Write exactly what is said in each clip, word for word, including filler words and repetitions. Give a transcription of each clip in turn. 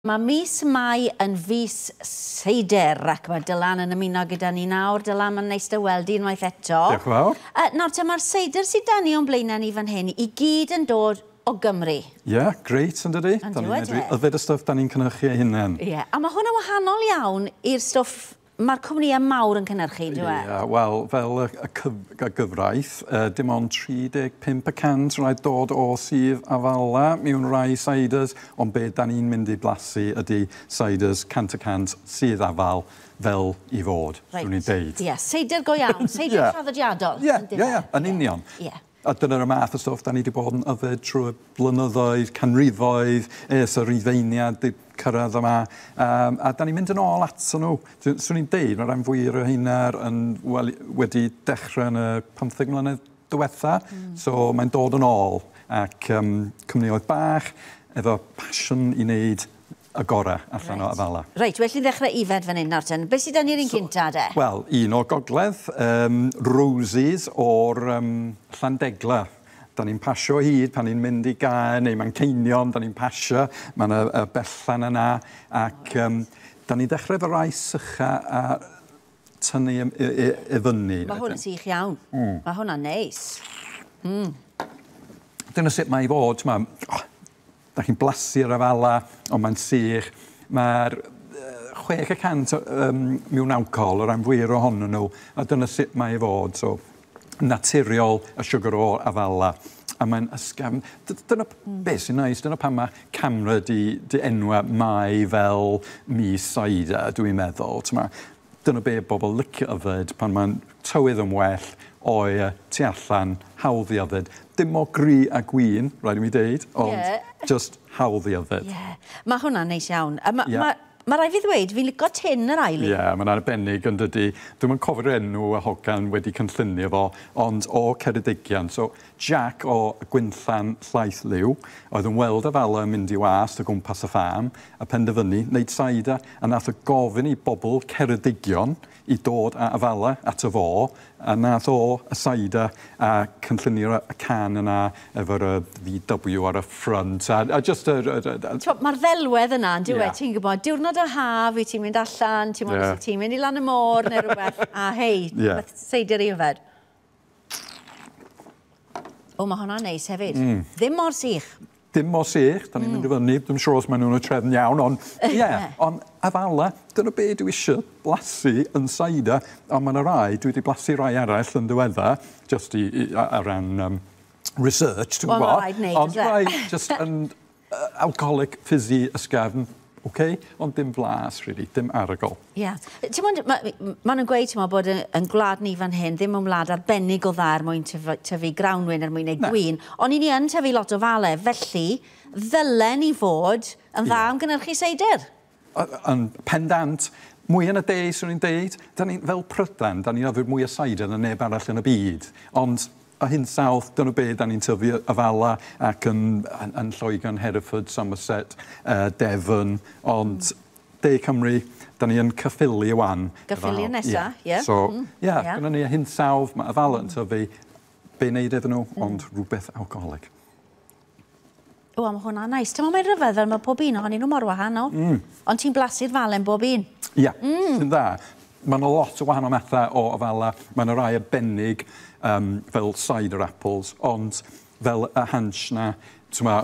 Mae mis Mai yn fis seider ac mae Dylan yn ymuno gyda ni nawr. Dylan, mae'n neis dy weld i unwaith eto. Diolch yn fawr. Uh, nawr te, mae'r seidr sydd 'da ni o'n blaenau ni fan hyn i gyd yn dod o Gymru. Ie, yeah, grêt yn dydi? Yn Da ni'n dyw e, medru de? yfed y stwff da ni'n cynhyrchu eu hunain. Ie, yeah. A mae hwn yn wahanol iawn i'r stwff mae'r cwmnïau mawr yn cynhyrchu, dyw e? Ie, wel, fel y, y, cyf, y gyfraith, uh, dim ond tri deg pump y cant rhaid dod o sudd afala mewn rai ciders, ond be da ni'n mynd i blasu ydy ciders cant y cant sudd afal fel i fod, swn i'n deud. Ie, seidr go iawn, seidr Ie. traddodiadol. Ie, yndyfe? ie, ie, yn union. Ie. A dyna'r math o stwff da ni wedi bod yn yfed trwy blynyddoedd, canrifoedd, ers y Rhufeiniad 'di cyrraedd yma. Um, a da ni'n mynd yn ôl ato nhw. Swn i'n deud, mae rhan fwyaf o heina yn, wel, wedi dechrau yn y pymtheg mlynedd diwetha. Mm. So mae'n dod yn ôl. Ac um, cwmnïoedd bach, efo passion i wneud y gorau allan o afala. Reit, well ni ddechrau ifed fan hyn nawr ten. Beth sydd 'da ni'r un cynta de? Wel, un o'r gogledd, um, Roses o'r um, Llandegla. Da ni'n pasio hyd pan ni'n mynd i Gaer neu Manceinion, da ni'n pasio, mae yna y bellan yna, ac um, da ni'n dechrau efo rai sycha a tynnu i, i, i, i fyny. Mae hwn yn sych iawn. Mm. Mae hwnna'n neis. Dyna sut mae i fod, t'ma, oh, da chi'n blasu'r afala, ond mae'n sych. Mae'r chwech y cant um, mewn alcohol, o ran fwyaf ohonyn nhw, a dyna sut mae i fod. So, naturiol y siwgr o afala. A mae'n ysgafn. D- Dyna mm. beth sy'n neis, dyna pam mae CAMRA di, di enwa Mai fel mis cider, dwi'n meddwl. T'ma, dyna be bobl licio yfed pan mae'n tywydd yn well, oer, tu allan, hawdd i yfed. Dim mor gry a gwin, rhaid i mi deud, ond Ie. just hawdd i yfed. Ie. Yeah. Mae hwnna'n neis iawn. A ma, Ie. ma, ma rhaid fi ddweud, fi'n licio tin yr ail Ie, yeah, mae'n arbennig yn dydi. Dwi'm yn cofio'r enw y hogan wedi cynllunio fo, ond o Ceredigion. So, Jack o Gwynllan Llaeth Liw, oedd yn weld afala yn mynd i wast o gwmpas y ffarm, a penderfynu wneud cider, a nath o gofyn i bobl Ceredigion i dod â afala ato fo, a nath o y cider a cynllunio'r y can yna efo'r y V W ar y front, a, a just y... y, y, y Mae'r ddelwedd yna, yn dyw e, Ie. ti'n gwybod, diwrnod o haf, wyt ti'n mynd allan, ti'n mynd Ie. ti'n mynd i lan y môr neu rhywbeth, a hei, Ie. beth seidr i yfed. O, mae hwnna'n neis hefyd. Mm. Ddim mor sych. Dim mor sych, da ni'n mynd i fyny, dwi'n siŵr os maen nhw'n y trefn iawn, ond ie, yeah, ond afala, dyna be dwi eisiau blasu yn cider, ond mae yna rai, dwi wedi blasu rai arall yn ddiweddar, just i, i, ar ran um, research, ti'n Wel, ma' gwybod? raid neud, Ond oes e? rai just yn uh, alcoholic, fizzy, ysgafn, okay, ond dim blas, really, dim arogl. Ie. Yeah. Ti'n mwyn, ma, ma nhw'n gweud, ti'n bod yn, yn gwlad ni fan hyn, ddim yn wlad arbennig o dda er mwyn tyfu, tyfu grawnwin, er mwyn neud Na. gwin, ond i ni yn tyfu lot o fale, felly ddylen ni fod yn dda Ie. am gynhyrchu seidr. Yn pendant, mwy yn y de, swn i'n deud, da ni, fel Prydain, da ni'n yfed mwy o cider na neb arall yn y byd. Ond y hinsawdd, dyna be da ni'n tyfu afala ac yn, yn, yn Lloegr, Hereford, Somerset, uh, Devon, ond De Cymru, da ni yn Caerffili wan. Caerffili nesa, ie. So, Mm, ie, yeah, ie. gyda ni y hinsawdd, mae afala yn tyfu, be wneud iddyn nhw, ond rhywbeth alcoholic. O, mae hwnna'n neis. Ti'n meddwl mae'n rhyfedd fel mae pob un ohonyn nhw mor wahanol. Mm. Ond ti'n blasu'r falen bob un. Ie, yeah, mm. sy'n dda. Mae yna lot o wahanol mathau o afala. Mae yna rai arbennig um, fel cider apples, ond fel y Hansh na, ma,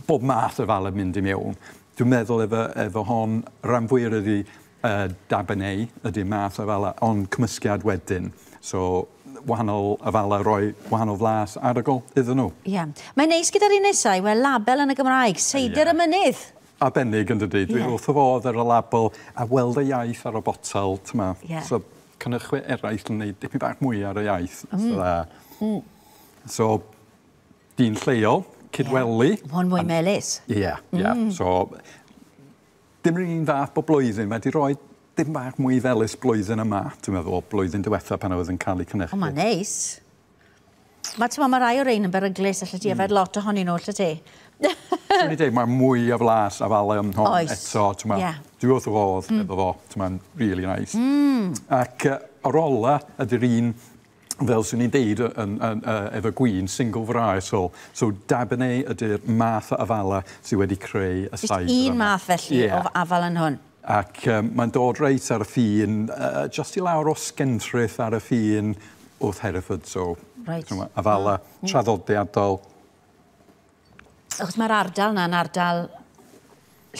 bob math o afala yn mynd i mewn. Dwi'n meddwl efo, efo hon, rhan fwyaf ydy uh, Dabinett ydy math o afala, ond cymysgiad wedyn. So, wahanol afala roi wahanol flas arogl iddyn nhw. Ie. Yeah. Mae'n neis gyda'r un nesau, wel, label yn y Gymraeg, seidr Ie. y mynydd. Arbennig yn dydy. Dwi Ie. wrth y fodd ar y label a weld y iaith ar y botel, t'ma. Ie. So, cynhyrchwyr eraill yn gwneud dipyn bach mwy ar y iaith. Mm. So, mm. so, dyn lleol, Cydweli. Mae hwn mwy melys. Ie, yeah, ie. Yeah. Mm. So, dim yr un fath bob blwyddyn. Mae wedi rhoi dim bach mwy felys blwyddyn yma, dwi'n meddwl, blwyddyn diwetha pan oedd yn cael ei cynhyrchu. O, mae'n neis. Mae, ti'n mae rai o rein yn beryglus, allet ti yfed lot ohonyn nhw, allet ti? Swn i dweud, mae mwy o flas afale yn hon Oes. eto. Ti'n Ie. Dwi wrth y fodd mm. efo fo. Ti'n Mae'n really nice. Mm. Ac uh, yr ola ydy'r un Fel swn i'n deud yn, yn, uh, efo gwin, single varietal. So Dabinett ydy'r math o afala sydd wedi creu y Just seidr un yma. math felly Ie. o afal yn hwn. Ac um, mae'n dod reit ar y ffin, uh, just i lawr o Skenfrith ar y ffin wrth Hereford. So, Reit. t'mo', afala traddodiadol. Achos mae'r ardal na'n ardal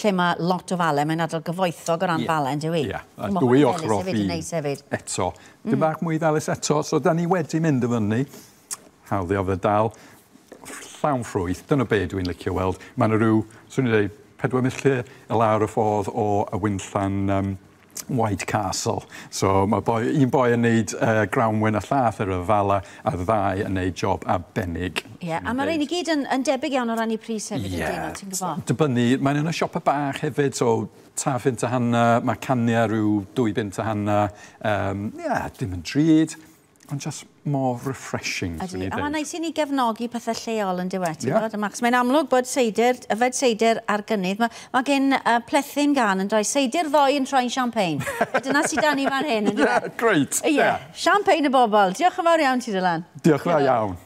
lle mae lot o fale, mae'n ardal gyfoethog o ran Ie. fale, yn dyw? Ie, a Ma' dwy hwn ochr o felys hefyd yn ffin. neis hefyd. Eto. Dim bach mwy felys eto, so da ni wedi mynd y fyny. Hawdd i ofyd dal. Llawn ffrwyth, dyna be dwi'n licio weld. Mae yna rhyw, swn i'n dweud, pedwar milltir i lawr y ffordd o y winllan um, White Castle. So mae boi, un boi yn neud uh, grawnwyn a llath ar y fala, a ddau yn neud job arbennig. Ie, a mae'r rhain i gyd yn, yn debyg iawn o ran i pris hefyd, yeah. Ydyn nhw, ti'n gwybod? Dibynnu, mae'n yn y siopa bach hefyd, so tair phunt a hanner, mae caniau rhyw dwy bunt a hanner. Um, yeah, dim yn drud, ond just more refreshing, swn Ydy. i'n A mae'n deud. neis i ni gefnogi pethau lleol yn diwedd, ti'n Ie. gwybod? Achos mae'n amlwg bod seidr, yfed seidr ar gynnydd. Mae, mae gen uh, Plethyn gan yn dweud seidr ddoe yn troi'n champagne. A dyna sydd dan ni fan hyn, yn Yeah, diwedd? great. Ie, Yeah. champagne y bobl. Diolch yn fawr iawn ti, Dylan. Diolch yn fawr iawn.